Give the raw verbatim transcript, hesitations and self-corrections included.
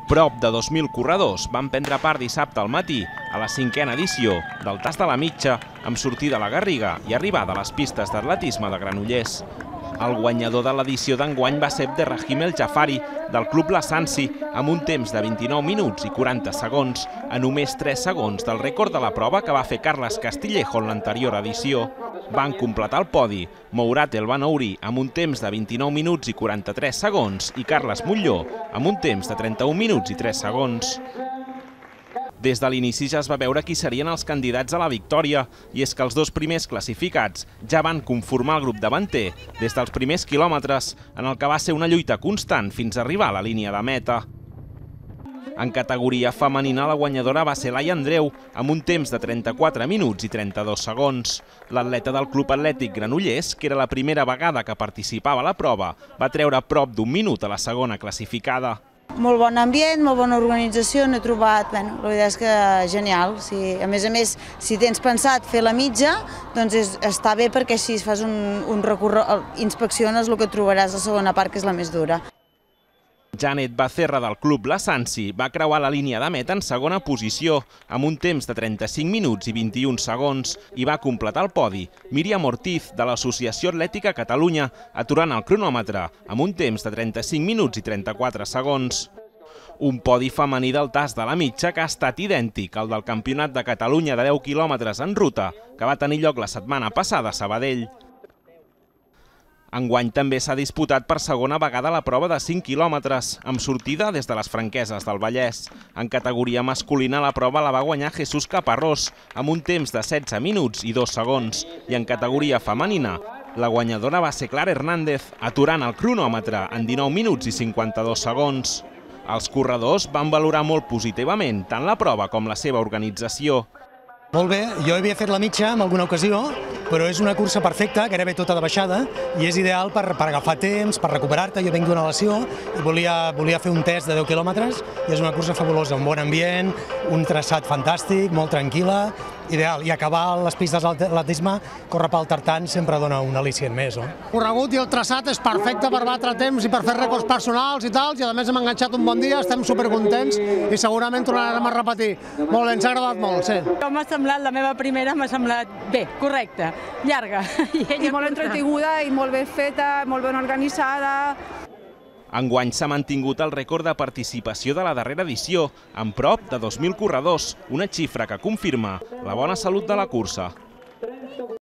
Prop de dos mil corredors van prendre part dissabte al matí a la cinquena edició del Tas de la Mitja amb sortida a la Garriga i arribada a les pistes d'atletisme de Granollers. El guanyador de l'edició d'enguany va ser Abderrahim El Jafari, del Club Lasansi, amb un temps de vint-i-nou minuts i quaranta segons, a només tres segons del rècord de la prova que va fer Carles Castillejo en l'anterior edició. Van completar el podi Mourad El Banouri amb un temps de vint-i-nou minuts i quaranta-tres segons i Carles Molló amb un temps de trenta-un minuts i tres segons. Des de l'inici ja es va veure qui serien els candidats a la victòria, i és que els dos primers classificats ja van conformar el grup davanter des dels primers quilòmetres, en el que va ser una lluita constant fins a arribar a la línia de meta. En categoria femenina, la guanyadora va ser Laia Andreu, amb un temps de trenta-quatre minuts i trenta-dos segons. L'atleta del Club Atlètic Granollers, que era la primera vegada que participava a la prova, va treure prop d'un minut a la segona classificada. Molt bon ambient, molt bona organització, n'he trobat, bueno, la veritat és que genial. Si, a més a més, si tens pensat fer la mitja, doncs és, està bé perquè si fas un, un recorregut, inspecciones el que trobaràs a la segona part, que és la més dura. Janet Becerra del Club Lasansi va creuar la línia de meta en segona posició, amb un temps de trenta-cinc minuts i vint-i-un segons, i va completar el podi Míriam Ortiz, de l'Associació Atlètica Catalunya, aturant el cronòmetre amb un temps de trenta-cinc minuts i trenta-quatre segons. Un podi femení del Tas de la Mitja que ha estat idèntic al del Campionat de Catalunya de deu quilòmetres en ruta, que va tenir lloc la setmana passada a Sabadell. Enguany també s'ha disputat per segona vegada la prova de cinc quilòmetres, amb sortida des de les Franqueses del Vallès. En categoria masculina la prova la va guanyar Jesús Caparrós, amb un temps de setze minuts i dos segons, i en categoria femenina la guanyadora va ser Clara Hernández, aturant el cronòmetre en dinou minuts i cinquanta-dos segons. Els corredors van valorar molt positivament tant la prova com la seva organització. Molt bé, jo havia fet la mitja en alguna ocasió, però és una cursa perfecta, gairebé tota de baixada, i és ideal per, per agafar temps, per recuperar-te. Jo venc d'una lesió i volia, volia fer un test de deu quilòmetres, i és una cursa fabulosa, un bon ambient, un traçat fantàstic, molt tranquil·la, ideal. I acabar les pistes d'atletisme, córrer pel tartan, sempre dona un al·licient més. No? El corregut i el traçat és perfecte per batre temps i per fer rècords personals i tal, i a més hem enganxat un bon dia, estem supercontents i segurament tornarem a repetir. Molt bé, ens ha agradat molt, sí. M'ha semblat, la meva primera m'ha semblat bé, correcta, llarga. I, I molt entretinguda i molt ben feta, molt ben organitzada. Enguany s'ha mantingut el rècord de participació de la darrera edició, amb prop de dos mil corredors, una xifra que confirma la bona salut de la cursa.